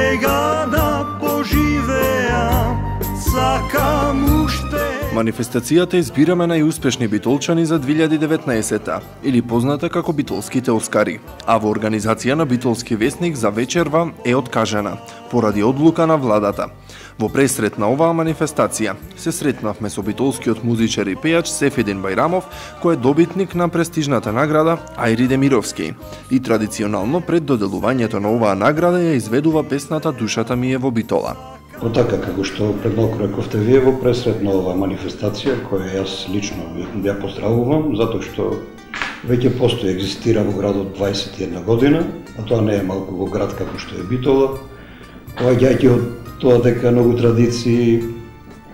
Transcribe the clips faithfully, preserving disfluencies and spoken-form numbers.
сега да поживеам, сакам уште. Манифестацијата избираме најуспешни битолчани за две илјади и деветнаесетта, или позната како Битолските Оскари, а во организација на Битолски весник за вечерва е откажена, поради одлука на владата. Во пресрет на оваа манифестација се сретнавме со битолскиот музичар и пејач Сефедин Бајрамов, кој е добитник на престижната награда Ајри Демировски. И традиционално пред доделувањето на оваа награда ја изведува песната Душата ми е во Битола. По така како што пред малку рековте вие, во пресрет на оваа манифестација, која јас лично ја поздравувам, затоа што веќе постои, екзистира во градот дваесет и една година, а тоа не е малку во град како што е Битола, поаѓајќи од тоа дека многу традиции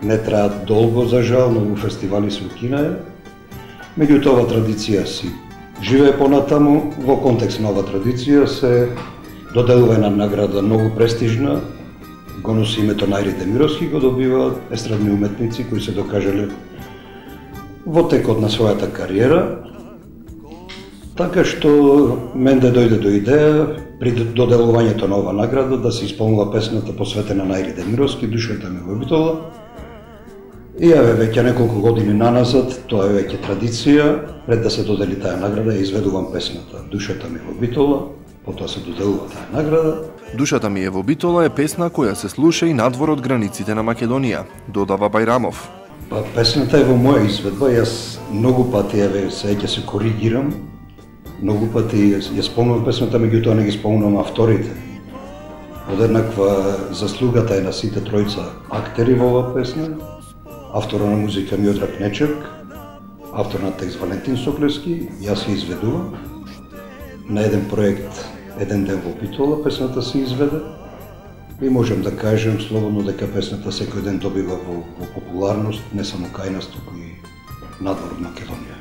не траат долго, за жал, многу фестивали се укинаја. Меѓутоа, оваа традиција си живее понатаму. Во контекст на оваа традиција се доделува една награда многу престижна, го носи името на Ајри Демировски, го добиваат естрадни уметници кои се докажале во текот на својата кариера. Така што мен да дојде до идеја при доделувањето на оваа награда да се исполнува песната посветена на Ајри Демировски, Душата ми во Битола. И еве веќе неколку години наназад, тоа е веќе традиција, пред да се додели таа награда, ја изведувам песната Душата ми во Битола, потоа се доделува таа награда. Душата ми е во Битола е песна која се слуша и надвор од границите на Македонија, додава Бајрамов. Па, песната е во моја изведба, јас многу пати еве се ќе се коригирам, многу пати ја спомнувам песната, меѓутоа не ги спомнувам авторите. Одеднаква заслугата е на сите тројца актери во оваа песна, автора на музика Миодраг Нечак, автор на текст Валентин Соклевски, јас ја изведувам. На еден проект Еден ден во Битола песната се изведе и можем да кажем слободно дека песната секој ден добива во, во популарност, не само кај нас, туку и надвор од Македонија.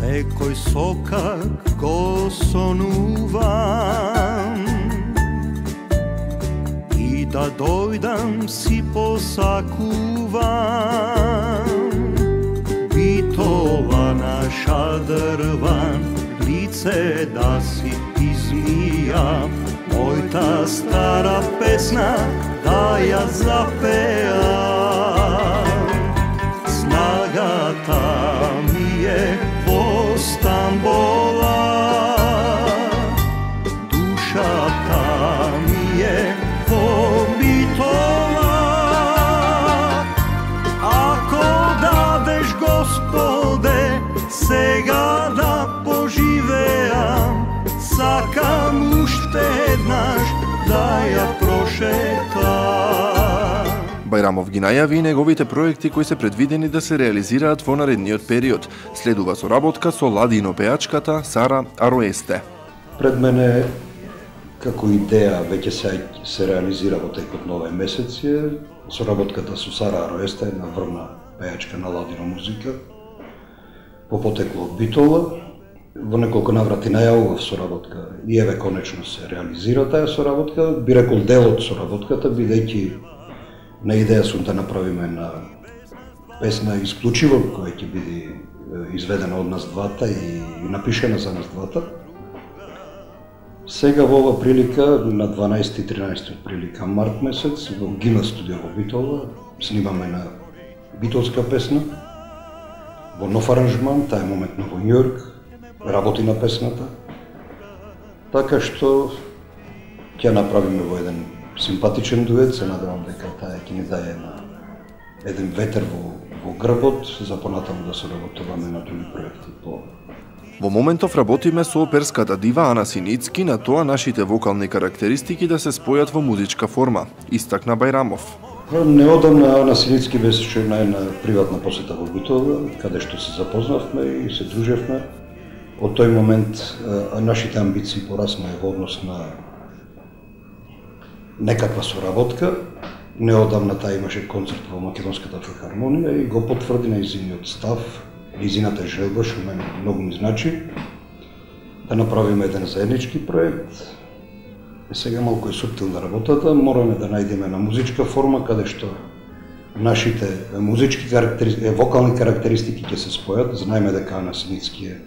Секој сокак го сонувам и да дојдам си посакувам. Битола наша дрван, лице да си измија, мојта стара песна да ја запеам. Снагата ми е во Стамбола, душата ми е во Битола. Ако дадеш, Господе, сега да поживеам, сакам уште еднаш да ја прошетам. Бајрамов ги најави и неговите проекти кои се предвидени да се реализираат во наредниот период. Следува соработка со ладино пеачката Сара Ароесте. Пред мене како идеја веќе се, се реализира во текот на овој месец е соработката со Сара Ароесте, една врвна пеачка на ладино музика, по потекло од Битола. Во неколку наврати најавував соработка и еве конечно се реализира таа соработка. Би рекол дел од соработката, бидејќи на идеја сум да направиме една песна исклучиво која ќе биде изведена од нас двата и напишена за нас двата. Сега во ова прилика, на дванаесети и тринаесети прилика март месец, во Гима студио во Битола, снимаме на битолска песна, во нов аранжман, таа е моментно во Њујорк, работи на песната. Така што ќе направиме во еден симпатичен дует, се надевам дека таа ќе ни даде на еден ветер во, во грбот, за понатаму да се работуваме на други проекти по. Во моментов работиме со оперската дива Ана Синицки на тоа нашите вокални карактеристики да се спојат во музичка форма, истакна Бајрамов. Неодамна Ана Синицки беше на една приватна посета во Битола, каде што се запознавме и се дружевме. Од тој момент а, нашите амбиции пораснаја во однос на некаква соработка. Неодамна таа имаше концерт во Македонската филхармонија и го потврди нејзиниот став низината желба, што мене многу ми значи, да направиме еден заеднички проект. И сега малку е суптилна работата, мораме да најдеме на музичка форма, каде што нашите музички карактеристики, вокални карактеристики ќе се спојат. Знаеме дека Ана Синицки е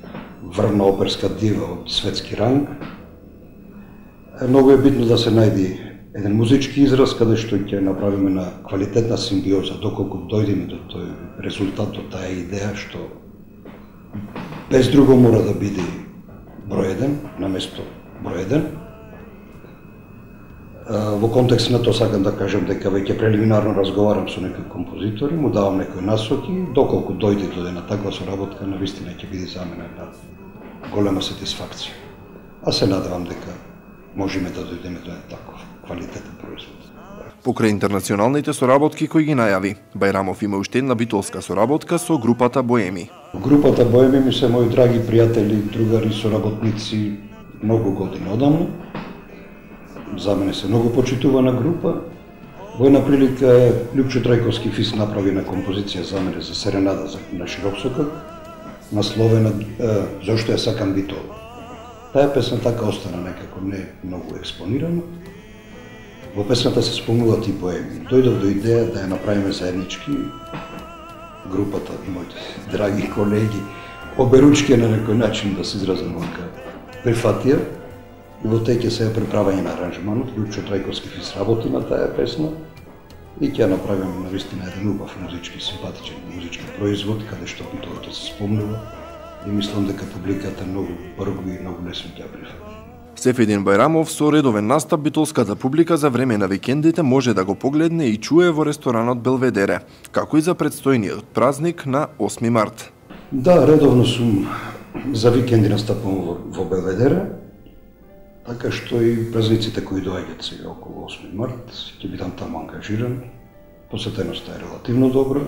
врвна оперска дива од светски ранг. Многу е битно да се најди еден музички израз каде што ќе направиме на квалитетна симбиоза, доколку дојдеме до тој резултат, до таа идеја што без друго мора да биде број еден, наместо број еден. Во контекст на тоа сакам да кажам дека веќе прелиминарно разговарам со некои композитори, му давам некои насоки, доколку дојде до една таква соработка, навистина ќе биде за мене една голема сатисфакција. А се надевам дека можеме да дојдеме до една таков квалитетен производ. Покрај интернационалните соработки кои ги најави, Бајрамов има уште една битолска соработка со групата Боеми. Групата Боеми ми се мои драги пријатели, другари, соработници многу години одамна. За мене се многу почитувана група. Во една прилика Лјупчо Трајковски Фис направи на композиција за мене за серенада на широк сокак, насловена "Зошто ја сакам битол". Таа песна така остана некако не многу експонирана. Во песната се спомнуваат и Боеми. Дојдов до идеја да ја направиме заеднички. Групата, моите драги колеги, оберучки на некој начин да се изразам вака, прифатија. И во теќе се приправање на аранжманот, Лјупчо Трајковски Фис работи на таа песна и ќе ја направиме навистина еден убав музички, симпатичен музички производ, каде што битолото се спомнува и мислам дека публиката многу брзо и многу лесно ќе ја прифати. Сефедин Бајрамов со редовен настап битолската публика за време на викендите може да го погледне и чуе во ресторанот Белведере, како и за предстојниот празник на осми март. Да, редовно сум за викенди настапувам во, во Белведере. Така што и празниците кои доаѓаат сега околу осми март, ќе бидам таму ангажиран. Посетеноста е релативно добра.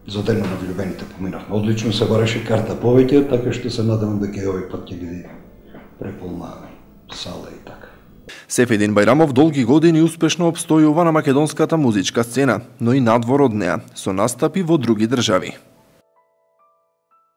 За денот на влюбените поминавме одлично, се бараше карта повеќе, така што се надевам дека и овој пат ќе биде преполна сала и така. Сефедин Бајрамов долги години успешно обстојува на македонската музичка сцена, но и надвор од неа, со настапи во други држави.